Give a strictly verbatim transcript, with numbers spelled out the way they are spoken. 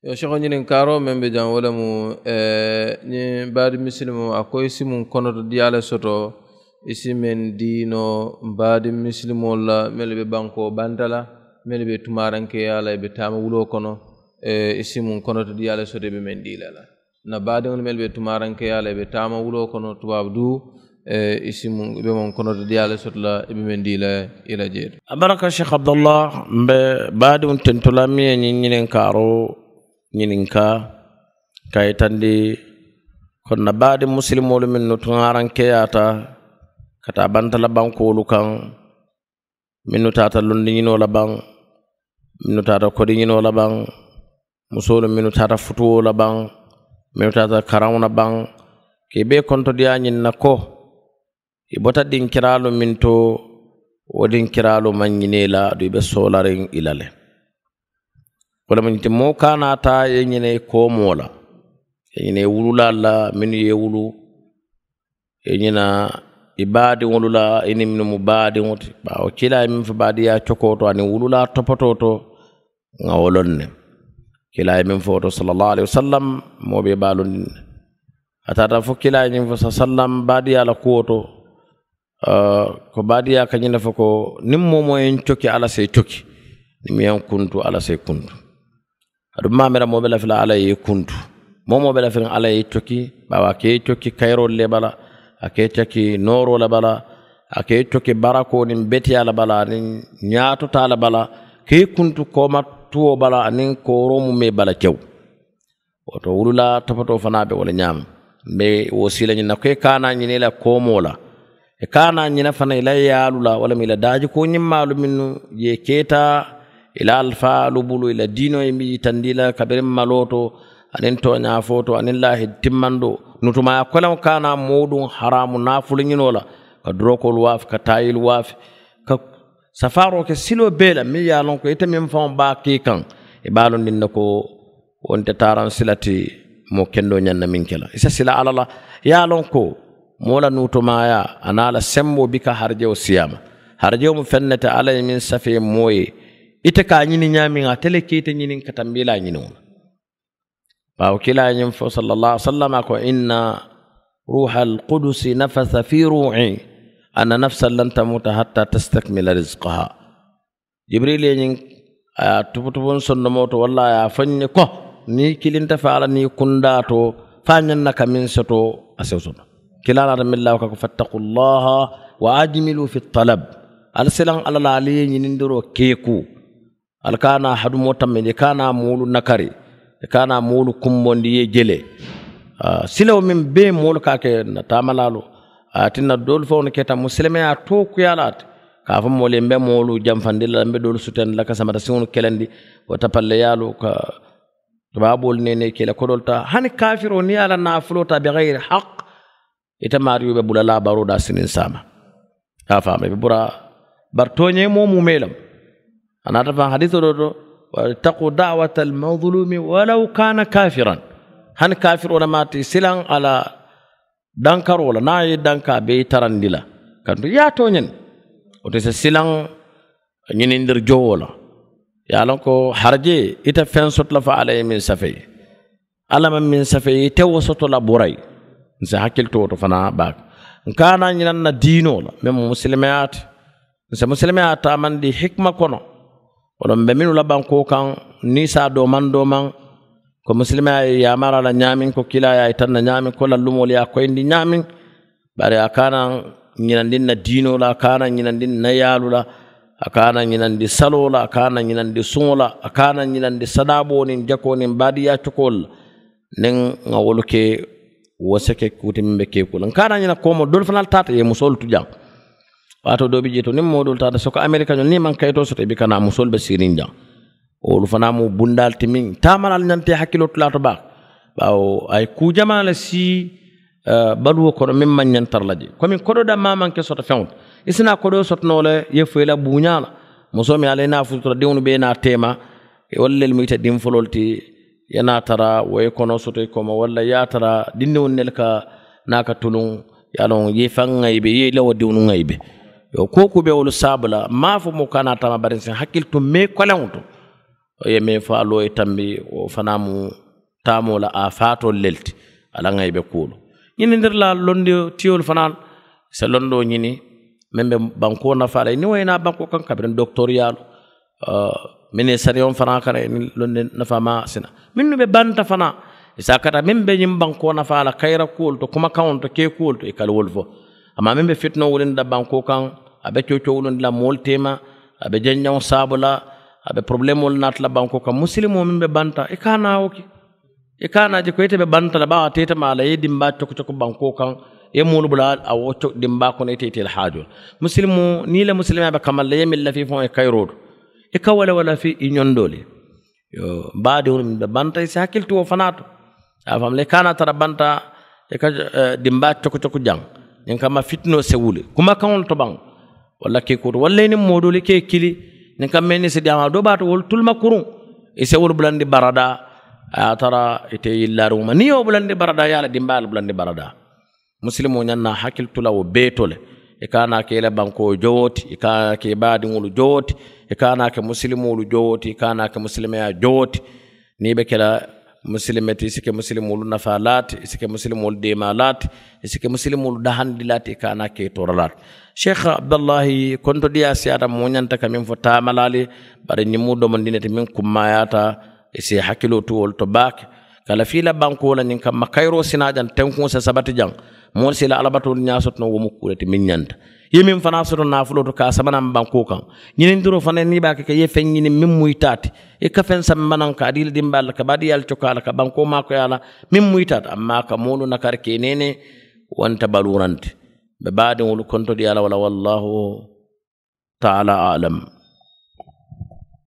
Yo seko ñininkaaroo meŋ be jaŋ wo le mu, ñiŋ baadi misilimoo a ko i si muŋ konoto diyaa le soto, i si meŋ dii noo baadi misilimoolu la mennu be bankoo banta la, mennu be tumaarankeeyaa la i be taama wuloo kono, i si muŋ konoto diyaa le soto i be meŋ dii la la. N na baadiŋolu mennu be tumaarankeeyaa la i be taama wuloo kono tubaabu duu, i si muŋ i be muŋ konoto diyaa le soto la i be meŋ dii la i la jee to. A baraka sheikh abdallah. Mbe baadiŋo tentula miŋ ye ñiŋ ñininkaaroo ñininkaa ka yitandi ko n na baadiŋ musilimoolu mennu tuŋaarankeyaata ka taa bantala bankoolu kaŋ, mennu taata londiñinoo la baŋ, mennu taata kodiñinoo la baŋ, musoolu mennu taata futuwoo la baŋ, mennu taata karaŋo la baŋ, ka i bee kontodiyaa ñiŋ na ko i bota dinkiraalu meŋ to, wo dinkiraalu maŋ ñinee la aduŋ i be soolariŋ i la le. Wo le mu ñiŋ ti moo ka a naata ye ñinee koomoo la, ye ñinee wululaalu la mennu ye wulu, ye ñina i baadiŋolu la i niŋ mennu mu baadiŋo ti. Baawo kiilaa ye meŋ fo baadiyaa cokoo to aniŋ wululaa topotoo to, ŋa wo loŋ ne. Kiilaa ye meŋ fo wo to sallallahu alayhi wasallam, moo be i baalundiŋ ne. A taata fo kiilaa ye ñiŋ fo sa sallam baadiyaa la kuwo to, ko baadiyaa ka ñiŋ ne fo ko niŋ moo moo ye n coki alla se i coki, niŋ miŋ ye n kuntu alla se i kuntu. Aduŋ maamira moo be lafi la alla ye i kuntu, moo moo be lafi la alla ye i coki. Baawo a ka i coki kayiroolu le bala, a ka i coki nooroo le bala, a ka i coki barakoo niŋ beteyaa le bala aniŋ ñaatotaa le bala, ka i kuntu kooma tuwoo bala aniŋ kooroo mu mee bala kew. Wo to wululaa topotoo fanaa be wo le ñaama. Mbe wo siila ñiŋ na ko i kaana ñina i la koomoo la, i kaana ñina fana i la yaalu la walla mu i la daajikoo ñimmaalu mennu ye keeta i la alifaalu bulu i la diinoo ye mbi yitandi la kabiriŋ maloo to aniŋ tooñaafoo to aniŋ laahi timmandoo. Nutumaaya koleŋo kaana moo duŋ haraamu naafulu ñinoo la, ka durokoolu waafi ka taayilu waafi, ka safaaroo ke siloo bee la meŋ ye a loŋ ko ite meŋ faŋo be a ke i kaŋ, i be a loŋ niŋ ne ko wo nte taaraŋ sila ti moo kendoo ñaŋ na meŋ ke la i si sila alla la. Ye a loŋ ko moo la nuutumaayaa a naa la semboo bi ka harajewo siyaama. Harajewo mu feŋ ne ti alla ye meŋ safee moo ye ite ka a ñini ñaamiŋ ate le ke ite ñiniŋ ka tambi i la a ñiniŋo la. Baawo kiilaa ye ñiŋ fo sallallahu alaihi wasallam a ko inna ruuha alqudusi nafasa fi ruuhi anna nafsan lan tamuta hatta tastakmila rizqaha. Jibiril ye ñiŋ a ye a tuputupu n sondomoo to walla a ye a fo n ye ko niŋ i kilinta faa la niŋ i kundaa to faa ñaŋ na ka meŋ soto a se wo soto. Kiilaa naata meŋ laa wo ka ko fattaku llaha wa ajmilu fi talab. Ali silaŋ alla la ali ye ñinindiroo keeku. Ali ka a naa hadumoo tammendi i ka a naa moolu nakari, i ka a naa moolu kumbondi i ye jele. Silawo meŋ bee moolu ka a ke na taamalaalu a ye a tinna doolu faŋo ne keta musilimeyaa tookuyaa le a ti. Ka a fo moolu ye mbe moolu jamfandi la mbe doolu sutandi la ka samata siŋolu kelendi wo tapalleyaalu ka tubaaboolu neenee ke i la kodoolu taa hani kaafiroo niŋ ye a la naafuloo taa bixayiri haq. Ite maariyo be bula laa baroo daa siniŋ saama. Ka a faama i be bura bari tooñee moo mumee lemu. A naata faŋ hadiisoo doo to wattaqu da'wata almazlumi walaw kaana kafiran. Hani kaafiroo le maati silaŋ a la dankaroo la niŋ a ye i dankaa be i tarandi la kantu i ye a tooñandi. Wo te si silaŋ ñinindiri jowoo la. Ye a loŋ ko harajee ite feŋ soto la fo alla ye meŋ safee alla maŋ meŋ safee ite wo soto la burayi. N si hakkili to wo to fanaa baake. N ka a naa ñinaŋ na diinoo la meŋ mu musilimeyaa ti. N si musilimeyaa taamandi hikima kono. Wo loŋ mbe mennu la bankoo kaŋ niisaa doomaŋ doomaŋ ko musilimeyaa ye yaamara la ñaamiŋ ko kiilaa ye a yitanna ñaamiŋ ko lallumoolu ye a koyindi ñaamiŋ. Bari a ka a naa ñinandi n na diinoo la a ka a naa ñinandi n na yaalu la. A ka a naa ñinandi saloo la a ka a naa ñinandi suŋo la a ka a naa ñinandi sadaaboo niŋ jakoo niŋ baadiyaa cokoolu la. Niŋ ŋa wolu ke wo se ke kuu ti meŋ be keekuu la n ka a naa ñina koomoo doolu fanaa le taata ye musoolu tu jaŋ. Waatoo doo bi jee to niŋ moo doolu taata soko amerika ñoo niŋ i maŋ kayitoo soto i bi ka naa musoolu be siiriŋ jaŋ. Wolu fanaa mu bundaalu ti meŋ taamalaalu ñanta i hakkiloo tulaa to baake. Baawo a ye kuu jamaa le sii baluwo kono meŋ maŋ ñantara la jee komi kodoo dammaa maŋ ke soto feŋo ti. I si naa kodoo soto noo le i ye fo i la buuñaa la. Musoo meŋ ye a la i naa fututa diŋolu be i naa teema. Wolu lelu mu ite diŋ foloolu ti i ye naa tara wo ye konoo soto i kooma walla i ye a tara dindiŋo nelu ka naa ka tuluŋ. Ye a loŋ i ye i faŋ ŋayibe i ye i la wo diŋolu ŋayibe. Yo koo kuu be wolu saabu la m̀ maŋ a fo moo ka naa taama bari nsi hakkili tu mee koleŋo to. Wo ye meŋ fo a loo ye tambi wo fanaa mu taamoo la a faatoolu le ti. A la ŋa i be kuwolu ñinindiri la londi tiyolu fanaa se londoo ñini meŋ be bankoo nafaa la i niŋ wo ye naa bankoo kaŋ kabiriŋ dokitoriyaalu meŋ ye sariyoŋ fanaa kana i niŋ londi nafaa maa sina mennu be banta fanaa i se a kata meŋ be ñiŋ bankoo nafaa la kayira kuwolu to kumakaŋolu to kee kuwolu to i ka wolu fo. Amaa meŋ be fitinoo wulindi la bankoo kaŋ a be coocoo wulindi la moolu teema a be janjaŋo saabu la a be porobuleemoolu naati la bankoo kaŋ musilimoo meŋ be banta i ka a naa wo ke. I ka a naa je ko ite be banta la bawo a teeta maa la i ye dimbaa coku coku bankoo kaŋ i ye moolu bula a wo dimbaa kono ite ite la haajoo la musilimoo niŋ i la musilimaa be kamal la i ye meŋ lafii faŋo ye kayiroo to i ka wala wala fii i ñondoo le. Yo baadiŋolu meŋ be banta i si hakkili ti wo fanaa to. A fam le i ka a naa tara banta i ka dimbaa coku coku jaŋ ñiŋ kamma fitinoo se wuli kumakaŋolu to baŋ. Walla ke kuuto walla i niŋ moo doolu i ka i kili ñiŋ kamma i niŋ si diyaamaa doo baa to wolu tuluma kuruŋ. I se wolu bulandi baradaa a ye a tara ite yillaariŋo ma niŋ ye wo bulandi baradaa ye a la dimbaa ye a la bulandi baradaa. Musilimoo ñaŋ na a hakkili tu la wo bee to le i ka a naa ke i la bankoo jowo ti i ka a naa ke i baadiŋolu jowo ti i ka a naa ke musilimoolu jowo ti i ka a naa ke musilimeyaa jowo ti. Niŋ i be ke la musilime ti i si ke musilimoolu nafaa laa ti i si ke musilimoolu deemaa laa ti i si ke musilimoolu dahandi laa ti i ka a naa ke i toora laa ti. Sheikh abdullahi kontodiyaa siyaata moo ñanta ka meŋ fo taamalaali bari ñiŋ mu domondi ne ti meŋ kummaayaata i si i hakkiloo tu wolu to baake. Ka lafii la bankoo la ñiŋ kamma kayiroo si naa jaŋ tenkuŋo si sabati jaŋ moolu si i la alabatoolu ñaa soto noo wo mu kuu le ti meŋ ñanta. I ye meŋ fanaa soto naafuloo to ka a sama naŋ bankoo kaŋ ñinindiroo fanaŋ niŋ i be a ke ka i ye feŋ ñiniŋ meŋ mu i taa ti i ka feŋ samba naŋ ka a dii i la dimbaalu la ka baadiyaa le cokaa la ka bankoo maakoyaa la meŋ mu i taa ti amma ka moolu nakari ka i neenee. Wo nte baluuranti. Mbe baadiŋolu kontodiyaa la walla wallaahu taala alam.